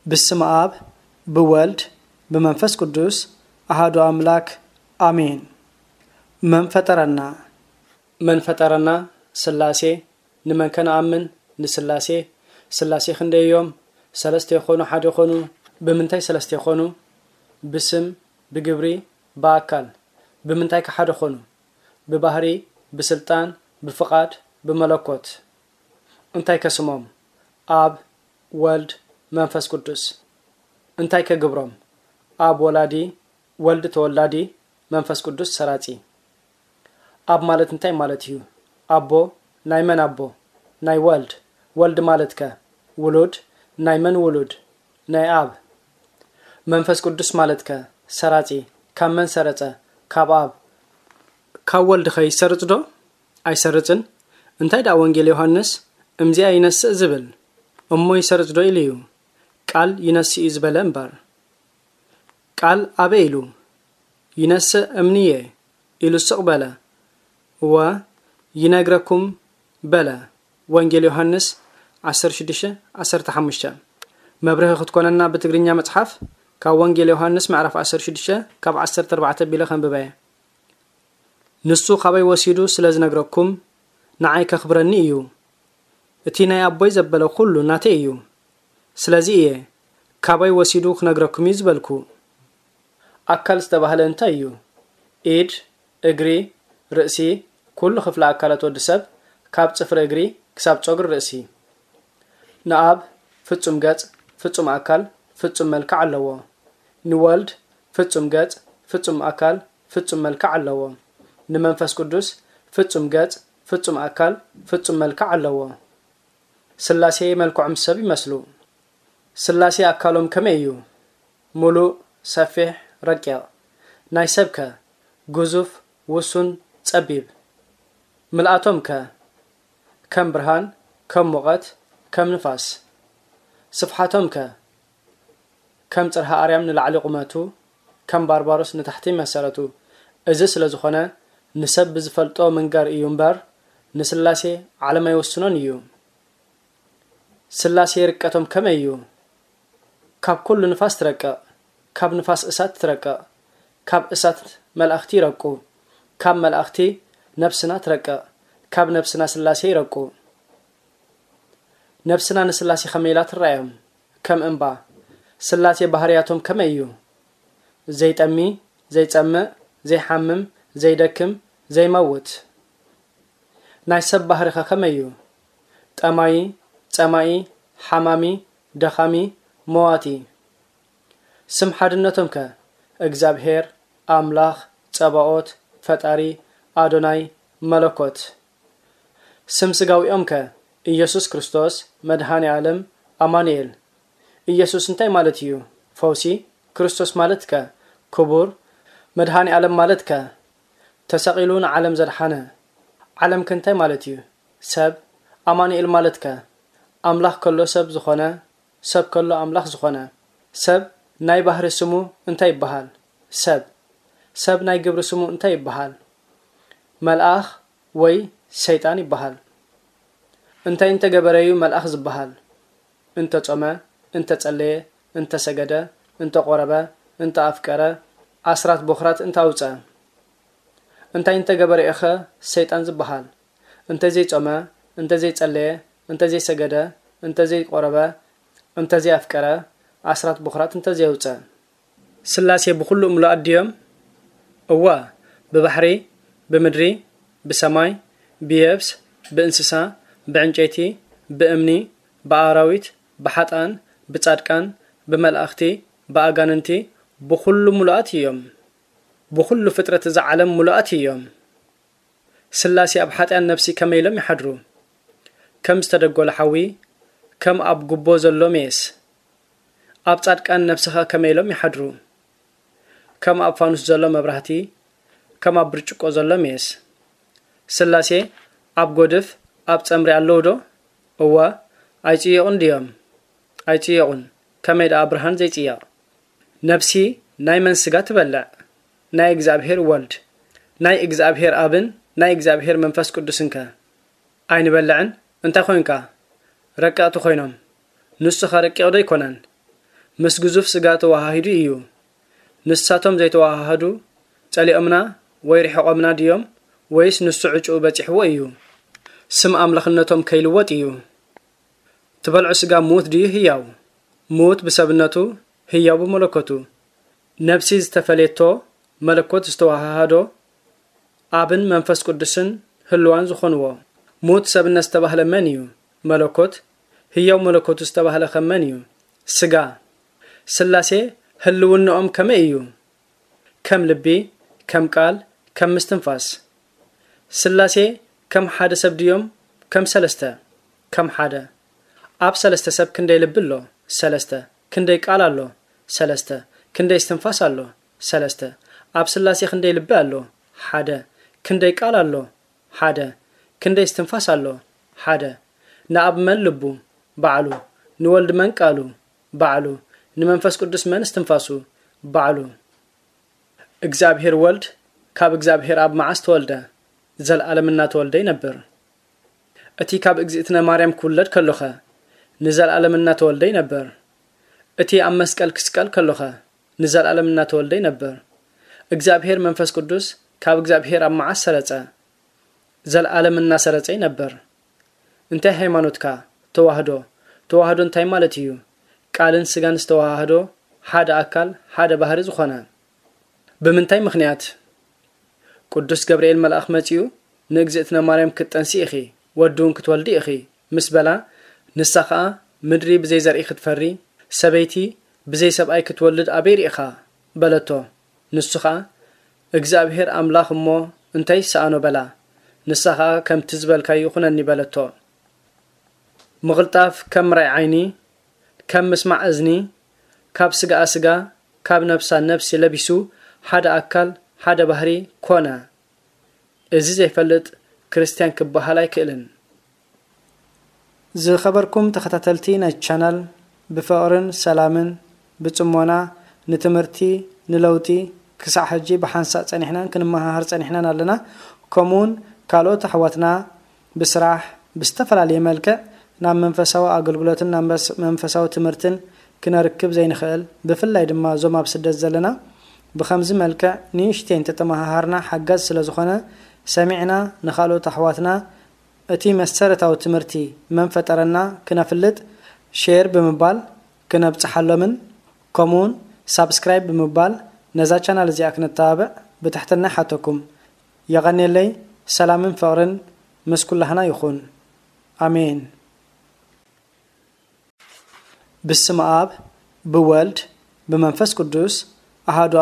ብስም ኣብ ብወልድ ብመንፈስ ቅዱስ ኣሃዱ ኣምላክ ኣሜን። መን ፈጠረና? መን ፈጠረና? ስላሴ። ንመን ከነኣምን? ንስላሴ። ስላሴ ክንደይ እዮም? ሰለስተ ይኾኑ፣ ሓደ ይኾኑ? ብምንታይ ሰለስተ ይኾኑ? ብስም፣ ብግብሪ፣ ብኣካል። ብምንታይ ከ ሓደ ኾኑ? ብባህሪ፣ ብስልጣን፣ ብፍቓድ፣ ብመለኮት። እንታይ ከስሞም? ኣብ፣ ወልድ፣ መንፈስ ቅዱስ። እንታይ ከግብሮም? ኣብ ወላዲ፣ ወልድ ተወላዲ፣ መንፈስ ቅዱስ ሰራጺ። ኣብ ማለት እንታይ ማለት እዩ? ኣቦ፣ ናይ መን ኣቦ? ናይ ወልድ። ወልድ ማለት ከ? ውሉድ፣ ናይ መን ውሉድ? ናይ ኣብ። መንፈስ ቅዱስ ማለት ከ? ሰራጺ፣ ካብ መን ሰረጸ? ካብ ኣብ። ካብ ወልድ ከ ይሰርጽ ዶ? ኣይሰርጽን። እንታይ ደኣ ወንጌል ዮሃንስ እምዚኣ ይነስእ ዝብል? እሞ ይሰርጽ ዶ ኢሉ እዩ? ቃል ይነስእ እዩ ዝበለ እምበር። ቃል ኣበይ ኢሉ? ይነስእ እምንየ ኢሉ ስቕ በለ። እወ፣ ይነግረኩም በለ። ወንጌል ዮሃንስ ዓሰርተ ሽዱሽተ ዓሰርተ ሓሙሽተ። መብርሂ ክትኮነና ብትግርኛ መጽሓፍ ካብ ወንጌል ዮሃንስ ምዕራፍ ዓሰርተ ሽዱሽተ ካብ ዓሰርተ ኣርባዕተ ኣቢለ ከንብበ። ንሱ ካበይ ወሲዱ ስለ ዝነግረኩም ንዓይ ከኽብረኒ እዩ። እቲ ናይ ኣቦይ ዘበለ ኩሉ ናተይ እዩ። ስለዚ እየ ካበይ ወሲዱ ክነግረኩም እዩ ዝበልኩ። ኣካል ዝተባህለ እንታይ እዩ? ኢድ፣ እግሪ፣ ርእሲ፣ ኩሉ ክፍለ ኣካላት ወዲ ሰብ ካብ ጽፍሪ እግሪ ክሳብ ጸጉሪ ርእሲ። ንኣብ ፍጹም ገጽ፣ ፍጹም ኣካል፣ ፍጹም መልክዕ ኣለዎ። ንወልድ ፍጹም ገጽ፣ ፍጹም ኣካል፣ ፍጹም መልክዕ ኣለዎ። ንመንፈስ ቅዱስ ፍጹም ገጽ፣ ፍጹም ኣካል፣ ፍጹም መልክዕ ኣለዎ። ስላሴ መልክዖም ሰብ ይመስሉ። ስላሴ ኣካሎም ከመይ እዩ? ምሉእ፣ ሰፊሕ፣ ረቂቕ። ናይ ሰብ ከ? ግዙፍ፣ ውሱን፣ ጸቢብ። ምልኣቶም ከ? ከም ብርሃን፣ ከም ሙቐት፣ ከም ንፋስ። ስፍሓቶም ከ? ከም ጽርሃ ኣርያም ንላዕሊ ቁመቱ፣ ከም ባርባሮስ ንታሕቲ መሰረቱ። እዚ ስለ ዝኾነ ንሰብ ብዝፈልጦ ምንጋር እዩ እምበር ንስላሴ ዓለም ኣይወስኖን እዩ። ስላሴ ርቀቶም ከመይ እዩ? ካብ ኩሉ ንፋስ ትረቅቕ፣ ካብ ንፋስ እሳት ትረቅቕ፣ ካብ እሳት መላእኽቲ ይረቁ፣ ካብ መላእኽቲ ነፍስና ትረቅቕ፣ ካብ ነፍስና ስላሴ ይረቁ። ነፍስና ንስላሴ ከመይ ኢላ ትረኣዮም? ከም እምባ። ስላሴ ባህርያቶም ከመይ እዩ? ዘይጠሚ፣ ዘይጸምእ፣ ዘይሓምም፣ ዘይደክም፣ ዘይመውት። ናይ ሰብ ባህሪኸ ከመይ እዩ? ጠማዪ፣ ጸማኢ፣ ሓማሚ፣ ደኻሚ፣ መዋቲ። ስም ሓድነቶም ከ? እግዚኣብሔር፣ ኣምላኽ፣ ጸባኦት፣ ፈጣሪ፣ ኣዶናይ፣ መለኮት። ስም ስጋዊኦም ከ? ኢየሱስ ክርስቶስ፣ መድኃኔ ዓለም፣ ኣማኑኤል። ኢየሱስ እንታይ ማለት እዩ? ፈውሲ። ክርስቶስ ማለት ከ? ክቡር። መድኃኔ ዓለም ማለት ከ? ተሰቒሉ ንዓለም ዘድሓነ። ዓለም ከ እንታይ ማለት እዩ? ሰብ። ኣማኑኤል ማለት ከ? ኣምላኽ ከሎ ሰብ ዝኾነ፣ ሰብ ከሎ ኣምላኽ ዝኾነ። ሰብ ናይ ባህሪ ስሙ እንታይ ይበሃል? ሰብ። ሰብ ናይ ግብሪ ስሙ እንታይ ይበሃል? መልኣኽ ወይ ሰይጣን ይበሃል። እንታይ እንተገበረ እዩ መልኣኽ ዝበሃል? እንተጾመ፣ እንተጸለየ፣ እንተሰገደ፣ እንተቆረበ፣ እንተኣፍቀረ፣ ኣስራት ቦኽራት እንተኣውጸ። እንታይ እንተገበረ ኢኸ ሰይጣን ዝበሃል? እንተዘይጾመ፣ እንተዘይጸለየ፣ እንተዘይሰገደ፣ እንተዘይቆረበ፣ እንተዘይኣፍቀረ፣ ኣስራት ቦኽራት እንተዘየውጸ። ስላሴ ብኹሉ ምሉኣት ድዮም? እወ፣ ብባሕሪ፣ ብምድሪ፣ ብሰማይ፣ ብየብስ፣ ብእንስሳ፣ ብዕንጨይቲ፣ ብእምኒ፣ ብኣራዊት፣ ብሓጥኣን፣ ብጻድቃን፣ ብመላእኽቲ፣ ብኣጋንንቲ፣ ብኹሉ ምሉኣት እዮም። ብኹሉ ፍጥረት እዛ ዓለም ምሉኣት እዮም። ስላሴ ኣብ ሓጥኣን ነፍሲ ከመይ ኢሎም ይሓድሩ? ከም ዝተደጎለ ሓዊ፣ ከም ኣብ ጉቦ ዘሎ ሜስ። ኣብ ጻድቃን ነፍስኸ ከመይ ኢሎም ይሓድሩ? ከም ኣብ ፋኑስ ዘሎ መብራህቲ፣ ከም ኣብ ብርጭቆ ዘሎ ሜስ። ስላሴ ኣብ ጎድፍ፣ ኣብ ጸምሪ ኣለዉ ዶ? እወ፣ ኣይጽየቑን ድዮም? ኣይጽየቑን። ከመይ ደኣ ብርሃን ዘይጽየቕ? ነፍሲ ናይ መን ስጋ ትበልዕ? ናይ እግዚኣብሔር ወልድ። ናይ እግዚኣብሔር ኣብን ናይ እግዚኣብሔር መንፈስ ቅዱስን ከ? ኣይንበልዕን። እንታይ ኾይንካ? ረቀቕቲ ኾይኖም። ንሱኸ ረቂቕ ዶ ኣይኮነን? ምስ ግዙፍ ስጋ ተወሃሂዱ እዩ። ንሳቶም ዘይተወሃሃዱ ጸሊኦምና ወይ ርሒቖምና ድዮም? ወይስ ንሱ ዕጭኡ በጺሕዎ እዩ? ስም ኣምላኽነቶም ከይልወጥ እዩ። ትበልዑ ስጋ ምዉት ድዩ ህያው? ምዉት ብሰብነቱ፣ ህያው ብመለኮቱ። ነብሲ ዝተፈለየቶ፣ መለኮት ዝተወሃሃዶ፣ ኣብን መንፈስ ቅዱስን ህልዋን ዝኾንዎ። ምዉት ሰብነት ዝተባህለ መን እዩ? መለኮት። ህያው መለኮቱ ዝተባህለ ከ መን እዩ? ስጋ። ስላሴ ህልውንኦም ከመይ እዩ? ከም ልቢ፣ ከም ቃል፣ ከም ምስትንፋስ። ስላሴ ከም ሓደ ሰብ ድዮም ከም ሰለስተ? ከም ሓደ። ኣብ ሰለስተ ሰብ ክንደይ ልቢ ኣሎ? ሰለስተ። ክንደይ ቃል ኣሎ? ሰለስተ። ክንደይ እስትንፋስ ኣሎ? ሰለስተ። ኣብ ስላሴ ክንደይ ልቢ ኣሎ? ሓደ። ክንደይ ቃል ኣሎ? ሓደ። ክንደይ እስትንፋስ ኣሎ? ሓደ። ንኣብ መን ልቡ? ባዕሉ። ንወልድ መን ቃሉ? ባዕሉ። ንመንፈስ ቅዱስ መን እስትንፋሱ? ባዕሉ። እግዚኣብሔር ወልድ ካብ እግዚኣብሔር ኣብ መዓስ ተወልደ? ዘልኣለም እናተወልደ ይነብር። እቲ ካብ እግዝእትነ ማርያም ክውለድ ከሎኸ? ንዘልኣለም እናተወልደ ይነብር። እቲ ኣብ መስቀል ክስቀል ከሎኸ? ንዘልኣለም እናተወልደ ይነብር። እግዚኣብሔር መንፈስ ቅዱስ ካብ እግዚኣብሔር ኣብ መዓስ ሰረጸ? ዘልኣለም እናሰረጸ ይነብር። እንታይ ሃይማኖትካ? ተዋህዶ። ተዋህዶ እንታይ ማለት እዩ? ቃልን ስጋን ዝተዋሃሃዶ፣ ሓደ ኣካል፣ ሓደ ባህሪ ዝኾነ። ብምንታይ ምኽንያት? ቅዱስ ገብርኤል መልኣኽ መጺኡ፣ ንእግዝእትነ ማርያም ክትጠንሲ ኢኺ፣ ወዲ እውን ክትወልዲ ኢኺ፣ ምስ በላ፣ ንሳ ኸኣ፣ ምድሪ ብዘይ ዘርኢ ክትፈሪ፣ ሰበይቲ ብዘይ ሰብኣይ ክትወልድ ኣበይ ርኢኻ? በለቶ። ንሱ ኸኣ፣ እግዚኣብሔር ኣምላኽ እሞ እንታይ ይሰኣኖ? በላ። ንሳ ኸኣ፣ ከምቲ ዝበልካዮ ይኹነኒ በለቶ። ምቕልጣፍ ከም ምርኣይ ዓይኒ፣ ከም ምስማዕ እዝኒ፣ ካብ ስጋኣ ስጋ፣ ካብ ነብሳ ነብሲ ለቢሱ፣ ሓደ ኣካል፣ ሓደ ባህሪ ኮነ። እዚ ዘይፈልጥ ክርስትያን ክበሃል ኣይክእልን። ዝኸበርኩም ተኸታተልቲ ናይ ቻናል፣ ብፍቕርን ሰላምን ብጽሞና ንትምህርቲ፣ ንለውጢ ክሳዕ ሕጂ ብሓንሳእ ጸኒሕናን ክንመሃሃር ጸኒሕናን ኣለና። ከምኡውን ካልኦት ኣሕዋትና ብስራሕ፣ ብዝተፈላለየ መልክዕ ናብ መንፈሳዊ ኣገልግሎትን ናብ መስ-፣ መንፈሳዊ ትምህርትን ክነርክብ ዘይንኽእል፣ ብፍላይ ድማ እዞም ኣብ ስደት ዘለና፣ ብኸምዚ መልክዕ ንእሽተይ እንተተመሃሃርና ሓጋዝ ስለ ዝኾነ፣ ሰሚዕና ንኻልኦት ኣሕዋትና እቲ መሰረታዊ ትምህርቲ መን ፈጠረና ክነፍልጥ፣ ሼር ብምባል ክነብጽሓሎምን፣ ከምኡውን ሳብስክራይብ ብምባል ነዛ ቻናል እዚኣ ክነተባብዕ ብትሕትና ይሓተኩም። የቐንየለይ። ሰላምን ፍቕርን ምስ ኩላህና ይኹን። ኣሜን። ብስመ ኣብ፣ ብወልድ፣ ብመንፈስ ቅዱስ፣ ኣሃዱ